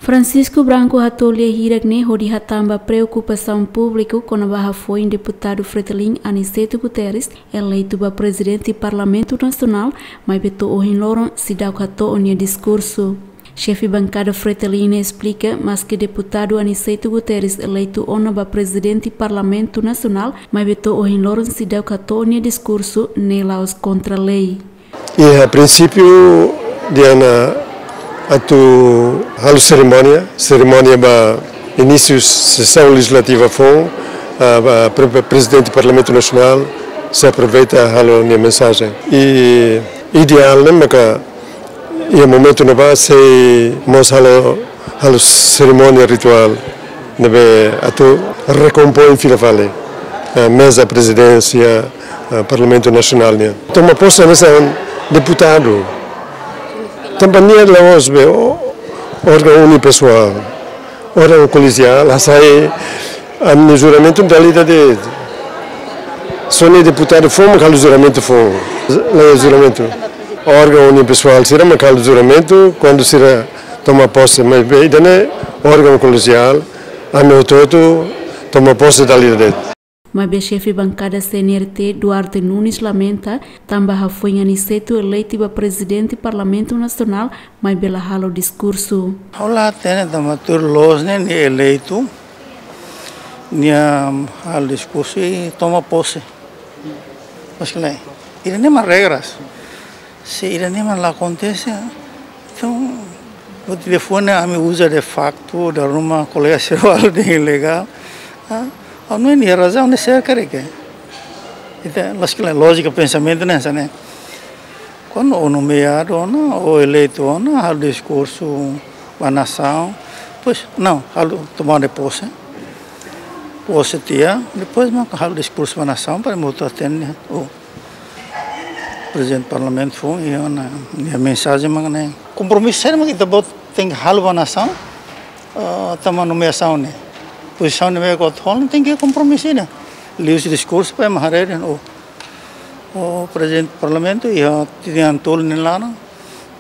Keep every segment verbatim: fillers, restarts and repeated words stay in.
Francisco Branco hato'o lia hirak ne'e hodi hatán ba preokupasaun públiku kona-ba hafoin deputadu Fretilin Aniceto Guterres, eleitu ba prezidente Parlamentu Nasionál, maibé to'o ohin loron seidauk hato'o nia diskursu. Xefe bankada Fretilin ne'e esplika, maske deputadu Aniceto Guterres eleitu ona ba prezidente Parlamentu Nasionál, maibé to'o ohin loron seidauk hato'o nia diskursu, ne'e la'ós kontra lei. Iha prinsípiu, di'ak ona atu halo serimónia, serimónia ba inísiu sesaun lejizlativa foun, ah, ba pre-, pre-, prezidente Parlamentu Nasionál sei aproveita halo nia mensajen. I ideál ne'e maka iha momentu ne'ebá sei mós halo, halo serimónia rituál ne'ebé atu rekompoin fila fali, eh, meza prezidénsia, eh, Parlamentu Nasionál nian. Toma pose hanesan deputadu. Tanba nia la'ós be ó-, órgaun unipessoal, órgaun kolegiál, hasai ami-nia juramentu dala ida de'it. Só nia deputadu foun mak halo juramentu foun. Laiha juramentu. Órgaun unipessoal sira mak halo juramentu kuandu sira toma pose, maibé ida-ne'e órgaun kolegiál, ami hotu-hotu toma pose dala ida de'it. Maibé xefe bankada C N R T, Duarte Nunes, lamenta tanba hafoin Aniceto eleitu ba prezidente Parlamentu Nasionál, maibé la halo diskursu. Ha'u la hatene tanba tuir loos ne'e nia eleitu, nia halo diskursu i toma pose. Maske lae, ida-ne'e mak regras. Se ida-ne'e mak la akontese, entaun, buat ida foun ne'e ami uza de facto, dala ruma kolega sira halo dehan ilegál. Ah, ha'u hanoin iha razaun ne'e serka de ke. Ita, maske lae, lójika pensamentu ne'e hanesan ne'e. Kuandu ó nomeadu ona, ó eleitu ona, halo diskursu ba nasaun, depois, não, halo tomada de posse. Pose tiha, depois mak halo diskursu ba nasaun para ema hotu hatene. Ó, prezidente parlamentu foun, iha ona nia mensajen mak ne'e. Kompromisu saida mak ita-boot tenke halo ba nasaun, ah, tanba nomeasaun ne'e. Pozisaun ne'ebé ke ó hola tenke kompromisu ida. Liuhusi diskursu para ema haree dehan, ó, ó prezidente parlamentu, iha tinan tolu nia laran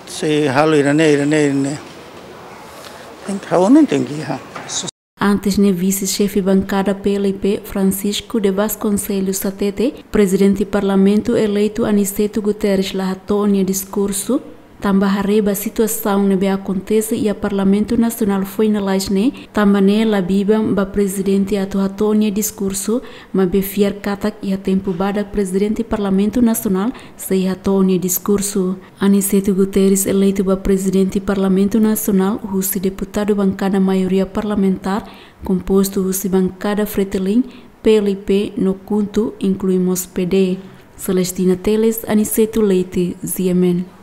sei halo ida-ne'e, ida-ne'e, ida-ne'e. Tenke, ha'u hanoin tenke iha. Antes ne'e, vise-xefe bankada P L P, Francisco de Vasconcelos hatete, prezidente Parlamentu eleitu Aniceto Guterres la hato'o nia diskursu, tanba haree ba situasaun ne'ebé akontese iha Parlamentu Nasionál foin lalais ne'e, tanba ne'e la biban ba prezidente atu hato'o nia diskursu, maibé fiar katak iha tempu badak prezidente Parlamentu Nasionál sei hato'o nia diskursu. Aniceto Guterres eleitu ba prezidente Parlamentu Nasionál husi deputadu bankada maioria parlamentár, kompostu husi bankada Fretilin, P L P no KHUNTO, inklui mós P D. Celestina Teles, Aniceto Leite, G M N.